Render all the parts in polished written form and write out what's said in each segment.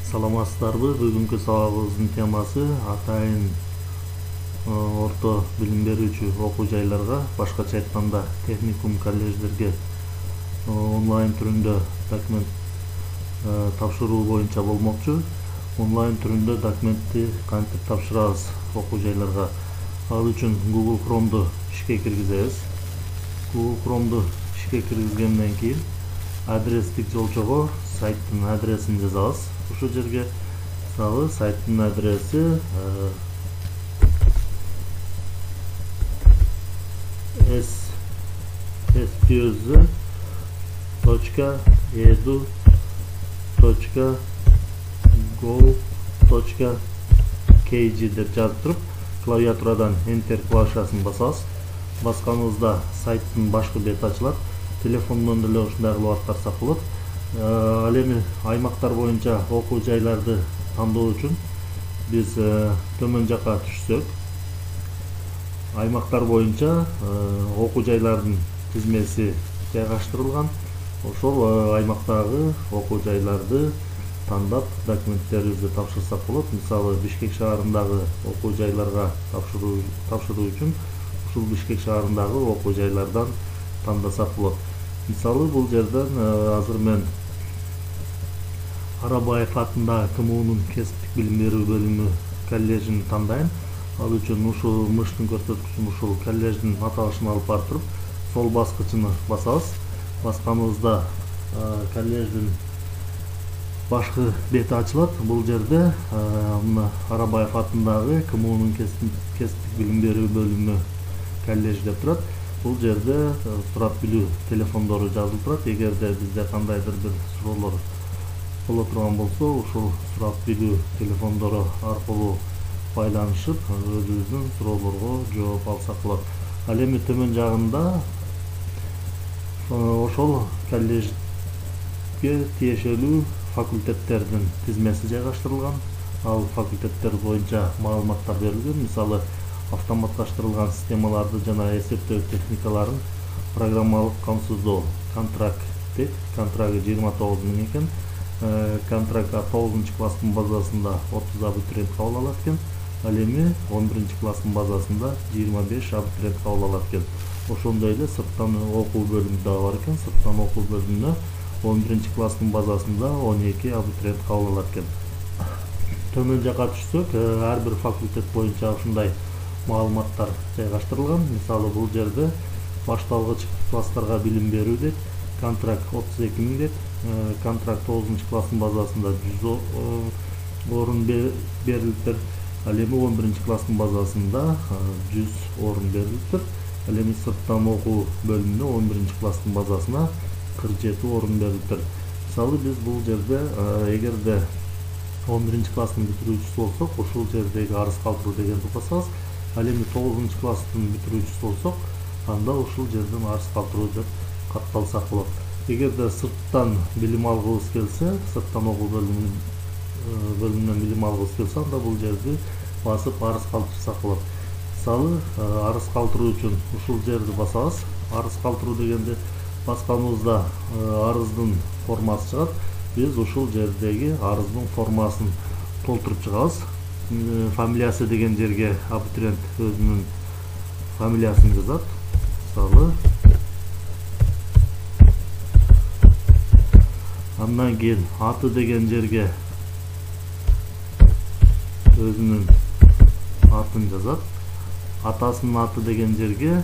Саламатсыздарбы? Бүгүнкү сабагыбыздын темасы атайын орто билим берүүчү окуу жайларга, башкача айтканда техникум, колледждерге онлайн түрүндө документ тапшыруу боюнча болмокчу. Онлайн түрүндө документти кантип тапшырабыз окуу жайларга? Ал үчүн Google Chrome'ду ишке киргизебиз. Google Chrome'ду ишке киргизгенден кийин адрестик жолчого сайттын адресин жазабыз. Ушул жерге мисалы сайттын адреси spz.edu.go.kg деп жазып туруп, клавиатурадан Enter клавишасын басабыз. Басканыбызда сайттын башкы бети ачылат. Телефондон деле ушундай кылып аткарсак болот. Ал эми аймактар боюнча окуу жайларды тандоо үчүн биз төмөн жака түшсөк, аймактар боюнча окуу жайлардын тизмеси жайгаштырылган. Ошол аймактагы окуу жайларды тандап документтерибизди тапшырсак болот. Мисалы Бишкек шаарындагы окуу жайларга тапшыруу үчүн ушул Бишкек шаарындагы окуу жайлардан тандасак болот. Мисалы бул жерден азыр мен Арабаев атындагы КМУнун кесиптик билим берүү бөлүмү коллежин тандайм. Ал үчүн ушул мыштын көрсөткүчүн ушул коллеждин аталышын алып барып туруп, сол баскычыны басабыз. Басканыбызда коллеждин башкы бети ачылат. Бул жерде Арабаев атындагы КМУнун кесиптик билим берүү бөлүмү коллеж деп турат. Бул жерде сурап билүү телефондору жазылып турат. Эгерде бизде кандайдыр бир суроолор боло турган болсо, ушул сурап билүү телефондору аркылуу байланышып, өзүбүздүн суроолорго жооп алсак болот. Ал эми төмөн жагында ошол коллежге тиешелүү факультеттердин тизмеси жайгаштырылган. Ал факультеттер боюнча маалыматтар берилген. Мисалы автоматташтырылган системаларды жана эсептөө техникаларын программалык камсыздоо контракт дейт. Контракты 29 миң экен. Контрактка 9 класстын базасында 30 абитуриент кабыл алат экен. Ал эми 11 класстын базасында 25 абитуриент кабыл алат экен. Ошондой эле сырттан окуу бөлүмү да бар экен. Сырттан окуу бөлүмүнө 11 класстын базасында 12 абитуриент кабыл алат экен. Төмөн жака түшсөк, ар бир факультет боюнча ушундай маалыматтар жайгаштырылган. Мисалы бул жерде башталгыч класстарга билим берүү дейт. Контракт 32 миң дейт. Контракт 9 класстын базасында 100 орун берилиптир. Ал эми 11 класстын базасында 100 орун берилиптир. Ал эми сырттан окуу бөлүмүнө 11 класстын базасына 47 орун берилиптир. Мисалы биз бул жерде эгерде 11 класстын бүтүрүүчүсү болсок, ушул жердеги арыз калтыруу дегенди басабыз. Ал эми 9 класстын бүтүрүүчүсү болсок, анда ушул жерден арыз калтыруу деп катталсак болот. Эгерде сырттан билим алгыбыз келсе, сырттан окуу бөлүмүнөн билим алгыбыз келсе, анда бул жерди басып арыз калтырсак болот. Мисалы арыз калтыруу үчүн ушул жерди басабыз. Арыз калтыруу дегенди басканыбызда арыздын формасы чыгат. Биз ушул жердеги арыздын формасын толтуруп чыгабыз. Фамилиясы деген жерге абитуриент өзүнүн фамилиясын жазат. Мисалы андан кийин аты деген жерге өзүнүн атын жазат. Атасынын аты деген жерге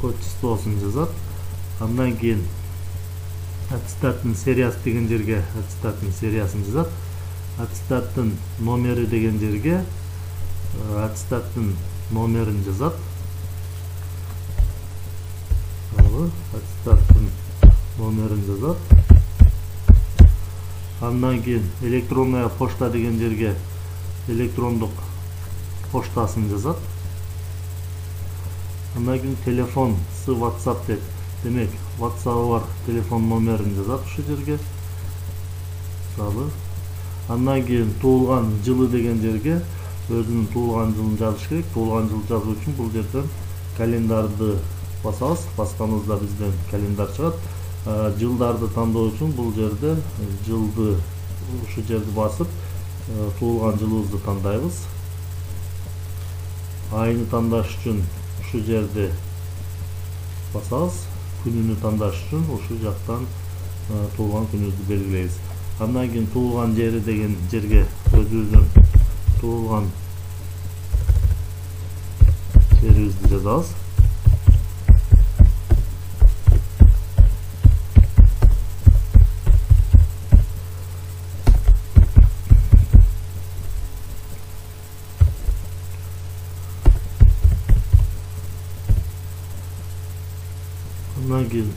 отчествосун жазат. Андан кийин аттестаттын сериясы деген жерге аттестаттын сериясын жазат. Аттестаттын номери деген жерге аттестаттын номерин жазат. Аттестаттын номерин жазат. Андан кийин электронная почта деген жерге электрондук поштасын жазат. Андан кийин телефон WhatsApp дейт. Демек, WhatsApp бар телефон номерин жазат ушул жерге. Мисалы, андан кийин туулган жылы деген жерге өзүнүн туулган жылын жазыш керек. Туулган жылы жазуу үчүн бул жерден календарды басабыз. Басканыбызда бизден календар чыгат. жылдарды тандоо үчүн бул жерде жылды ушу жерди басып туулган жылыбызды тандайбыз. Айны тандаш үчүн ушу жерди басабыз. Күнүнү тандаш үчүн ушу жактан туулган күнүбүздү белгилейбиз. Андан кийин туулган жери деген жерге өзүбүздүн туулган жерибизди жазабыз. Андан кийин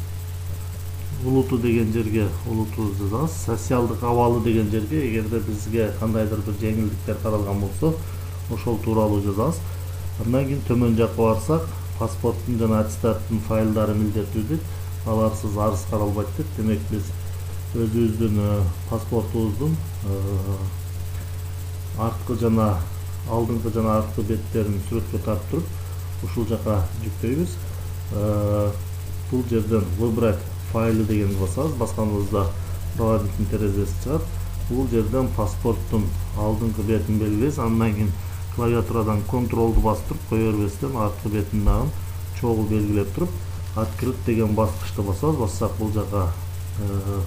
улуту деген жерге улутубузду жазабыз. Социалдык абалы деген жерге эгерде бизге кандайдыр бир жеңилдиктер каралган болсо, ошол тууралуу жазабыз. Андан кийин төмөн жакка барсак, паспорттун жана аттестаттын файлдары милдеттүү. Аларсыз арыз каралбайт дейт. Демек биз өзүбүздүн паспортубуздун арткы жана алдыңкы жана арткы беттерин сүрөткө тартып туруп ушул жака жүктөйбүз. Бул жерден выбрать файлы дегенди басабыз. Басканыбызда проводниктин терезеси чыгат. Бул жерден паспорттун алдыңкы бетин белгилейбиз. Андан кийин клавиатурадан контролду басып туруп, кое бербестен арткы бетин дагы чогуу белгилеп туруп, открыть деген баскычты басабыз. Бассак бул жака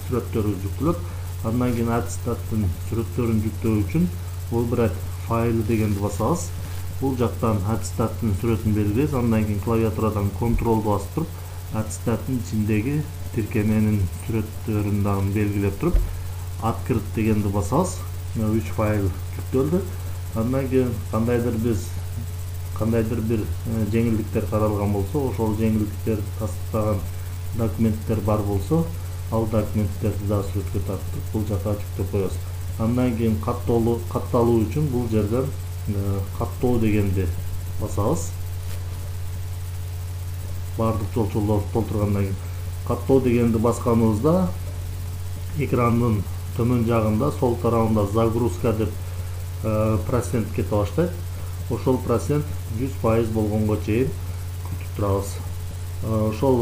сүрөттөрү жүктөлөт. Андан кийин аттестаттын сүрөттөрүн жүктөө үчүн выбрать файлы дегенди басабыз. Бул жактан аттестаттын сүрөтүн белгилейбиз. Андан кийин клавиатурадан контролду басып туруп, аттестаттын ичиндеги тиркеменин сүрөттөрүн дагы белгилеп туруп, открыть дегенди басабыз. 3 файл жүктөлдү. Андан кийин кандайдыр бир жеңилдиктер каралган болсо, ошол жеңилдиктер тастыктаган документтер бар болсо, ал документтерди да сүрөткө тартып бул жака жүктөп коебуз. Андан кийин катталуу үчүн бул жерден каттоо дегенди басабыз. Бардык жолчолдорду толтургандан кийин каттоо дегенди басканыбызда экрандын төмөн жагында сол тарабында загрузка деп процент кете баштайт. Ошол процент 100% болгонго чейин күтүп турабыз. Ошол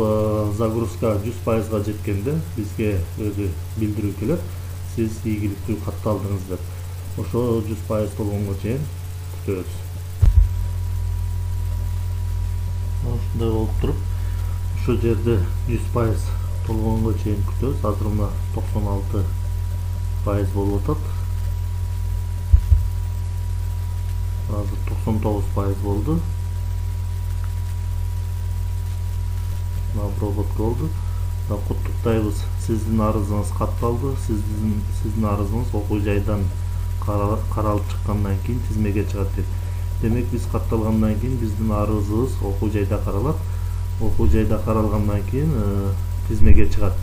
загрузка 100%га жеткенде бизге өзү билдирүү келет. Сиз ийгиликтүү катталдыңыз деп. Ошол 100% болгонго чейин күтөбүз. Ушундай болуп туруп, ошол жерде 100% толгонго чейин күтөбүз. Азыр мына 96% болуп атат. Азыр 99% болду. Обработка болду. Куттуктайбыз. Сиздин арызыңыз катталды. Сиздин арызыңыз окуу жайдан каралып чыккандан кийин тизмеге чыгат дейт. Демек биз катталгандан кийин биздин арызыбыз окуу жайда каралат. Окуу жайда каралгандан кийин тизмеге чыгат.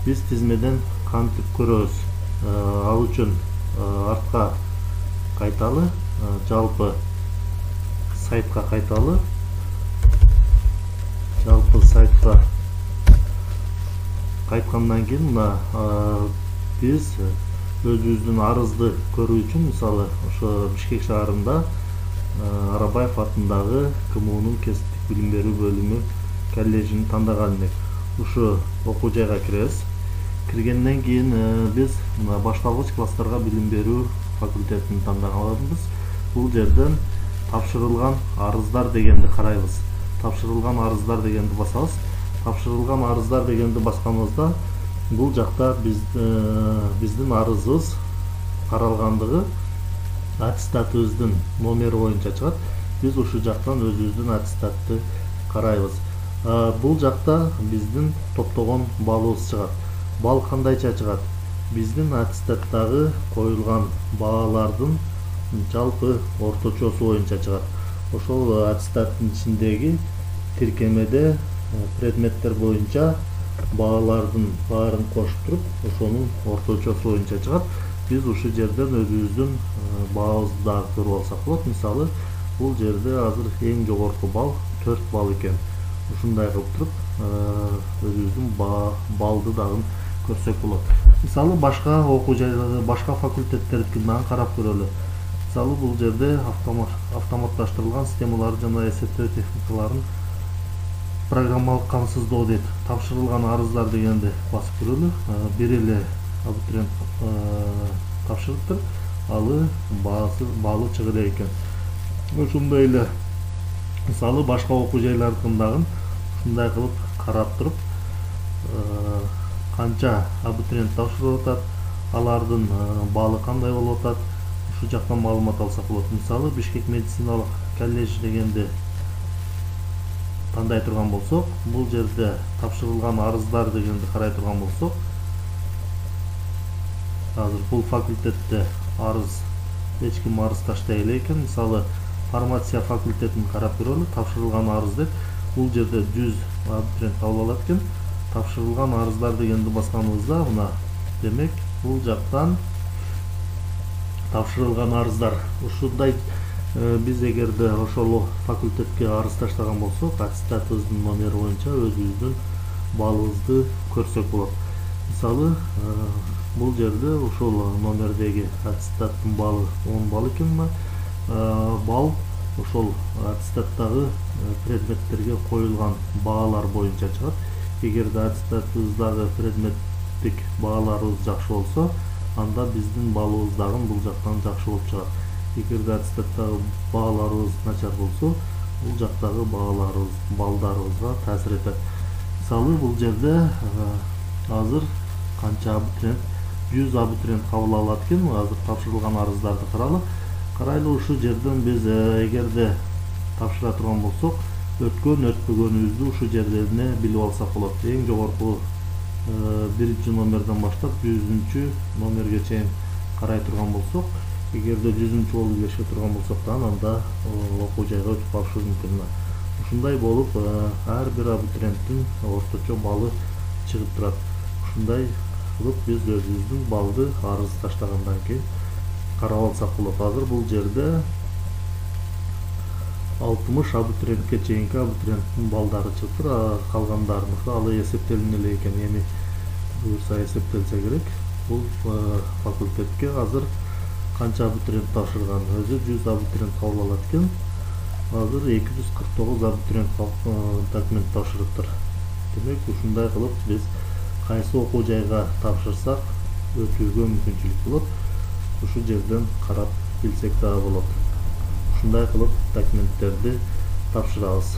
Биз тизмеден кантип көрөбүз? Ал үчүн артка кайталы, жалпы сайтка кайталы. Жалпы сайтка кайткандан кийин мына биз өзүбүздүн арызды көрүү үчүн, мисалы, ошо Бишкек шаарында Арабаев атындагы КМУнун кесиптик билим берүү бөлүмү коллежин тандаган элек. Ушу окуу жайга киребиз. Киргенден кийин биз мына башталгыч класстарга билим берүү факультетин тандаганбыз. Бул жерден тапшырылган арыздар дегенди карайбыз. Тапшырылган арыздар дегенди басабыз. Тапшырылган арыздар дегенди басканыбызда бул жакта биздин арызыбыз каралгандыгы аттестатыбыздын номери боюнча чыгат. Биз ушул жактан өзүбүздүн аттестатты карайбыз. Бул жакта биздин топтогон балыбыз чыгат. Бал кандайча чыгат? Биздин аттестаттагы коюлган баалардын жалпы орточосу боюнча чыгат. Ошол аттестаттын ичиндеги тиркемеде предметтер боюнча баалардын баарын кошуп туруп, ошонун орточосу боюнча чыгат. Биз ушул жерден өзүбүздүн баабызды дагы көрүп алсак болот. Мисалы, бул жерде азыр эң жогорку бал 4 бал экен. Ушундай кылып туруп өзүбүздүн балды дагы көрсөк болот. Мисалы, башка окуу жайларды, башка факультеттердикин дагы карап көрөлү. Мисалы, бул жерде автоматташтырылган системалар жана эсептөө техникаларын программалык камсыздоо дейт. Тапшырылган арыздар дегенди басып көрөлү. Бир эле абитуриент тапшырыптыр. Алы баалы чыга элек экен. Ошондой эле мисалы башка окуу жайлардыкындагы ушундай кылып карап туруп канча абитуриент тапшырып атат, алардын баалы кандай болуп атат, ушу жактан маалымат алсак болот. Мисалы Бишкек медициналык колледж дегенди тандай турган болсок, бул жерде тапшырылган арыздар дегенди карай турган болсок, азыр бул факультетте арыз эч ким арыз таштай элек экен. Мисалы фармация факультетин карап көрөлү. Тапшырылган арыз деп бул жерде 100 абитуриент кабыл алат экен. Тапшырылган арыздар дегенди басканыбызда мына демек бул жактан тапшырылган арыздар ушундай. Биз эгерде ошол факультетке арыз таштаган болсок, аттестатыбыздын номери боюнча өзүбүздүн балыбызды көрсөк болот. Мисалы бул жерде ошол номердеги аттестаттын баалы 10 балл экен. Балл ошол аттестаттагы предметтерге коюлган баалар боюнча чыгат. Эгерде аттестатыбыздагы предметтик бааларыбыз жакшы болсо, анда биздин балыбыз дагы бул жактан жакшы болуп чыгат. Эгерде аттестаттагы бааларыбыз начар болсо, бул жактагы балдарыбызга таасир этет. Мисалы бул жерде азыр канча абитуриент 100 абитуриент кабыл алат экен. Азыр тапшырылган арыздарды карайлы. Ушу жерден биз эгерде тапшыра турган болсок, өтпөгөнүбүздү ушу жердене билип алсак болот. Эң жогорку 1 номерден баштап 100 номерге чейин карай турган болсок, эгерде 100 болуп келише турган болсок да, анда окуу жайга өтүп калышы мүмкүн. Ушундай болуп ар бир абитуриенттин орточо баллы чыгып турат. Ушундай кылып биз өзүбүздүн баллды арыз таштагандан кийин карап алсак болот. Азыр бул жерде 60 абитуриентке чейинки абитуриенттин балдары чыгып тур. Калгандарыныкы алы эсептелине элек экен. Эми буюрса эсептелсе керек. Бул факультетке азыр канча абитуриент тапшырган? Өзү 100 абитуриент кабыл алат экен. Азыр 249 абитуриент документ тапшырыптыр. Демек ушундай кылып биз кайсы окуу жайга тапшырсак өтүүгө мүмкүнчүлүк болот. Ушу жерден карап билсек дагы болот. Ушундай кылып документтерди тапшырабыз.